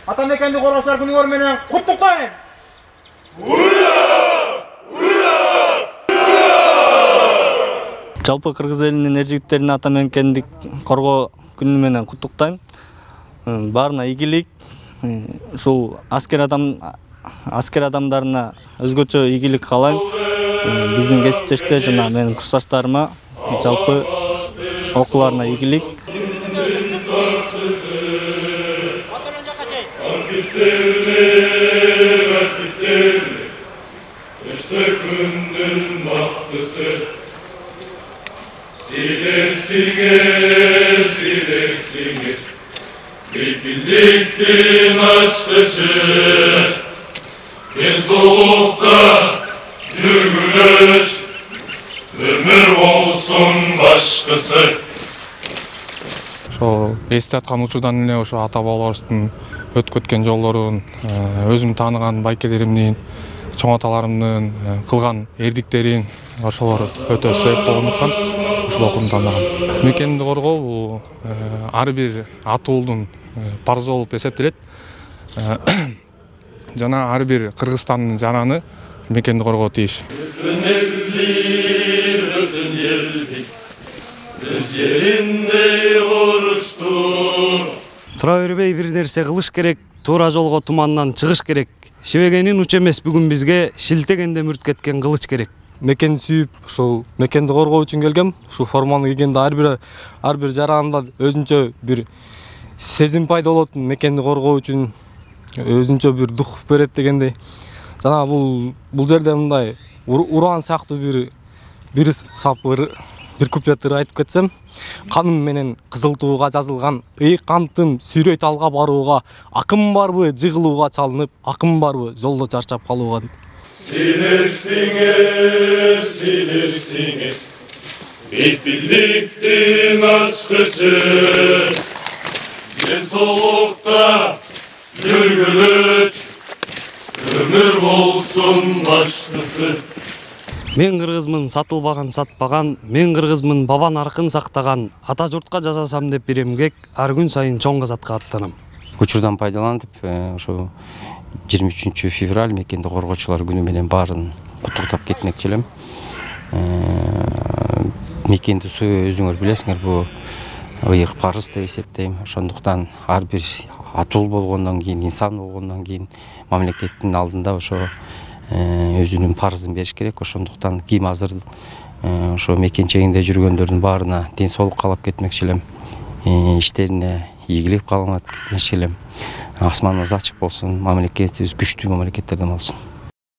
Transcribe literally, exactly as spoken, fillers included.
ата мекенди коргоочулар күнүңөр менен куттуктайм. Жалпы кыргыз элинин эр жигиттерин ата мекендик коргоо күнү менен куттуктайм. Баарына ийгилик. Ушул аскер адам аскер адамдарына өзгөчө ийгилик каалайм. Биздин кесиптештер жана менин курсташтарыма жалпы окууларына ийгилик. Силер сиңер, силер сиңер, бейпилдиктин ачкычы, денсаулыкта жүргүлөч, өмүр болсун башкысы. Ошо эсте аткан учурдан эле ошо ата бабаларыбыздын өткө өткөн жолдорун, өзүм тааныган байкелеримдин, чоң аталарымдын кылган эрдиктерин ошолор өтө себеп болгондуктан ушул окууну тандагам. Мекенди коргоо бул ар бир ата уулдун парызы болуп эсептелет. Жана ар бир Кыргызстандын жараны мекенди коргоо тийиш. Өтөн элди, өтөн элди, өз жеринде корушту. Тура бербей бир нерсе кылыш керек, туура жолго тумандан чыгыш керек. Шебегенин уч эмес бүгүн бизге шилтегенде мүрт кеткен кылыч керек. Мекенди сүйүп, ушул мекенди коргоо үчүн келгем. Ушул форманы кийгенде ар бир ар бир жаранында өзүнчө бир сезим пайда болот. Мекенди коргоо үчүн өзүнчө бир дух берет дегендей. Жана бул бул жерде мындай уран сыяктуу бир бир сапыр бир куплеттер айтып кетсем, каным менен кызыл тууга жазылган ыйыктым сүйрөй талга барууга, акым барбы жыгылууга чалынып, акым барбы жолдо чарчап калууга дейт. Силер сиңер, силер сиңер, бейпилдиктин ачкычы, денсаулыкта жүргүлөч, өмүр болсун башкысы. Мен кыргызмын сатылбаган сатпаган, мен кыргызмын баба наркын сактаган, ата журтка жасасам деп бир эмгек, ар күн сайын чоң казатка аттанам. Учурдан пайдаланып, ошо жыйырма үчүнчү февраль мекенди коргоочулар күнү менен баарын куттуктап кетмекчи элем. Мекенди суу өзүңөр билесиңер, бул ыйык парыз деп эсептейм. Ошондуктан ар бир ата ул болгондон кийин, инсан болгондон кийин мамлекеттин алдында ошо өзүнүн парызын бериш керек. Ошондуктан ким азыр ошо мекенчегинде жүргөндөрдүн баарына ден соолук каалап кетмекчи элем. Иштерине ийгилик каалап кетмекчи элем. Асманыбыз ачык болсун, мамлекетибиз күчтүү мамлекеттерден болсун.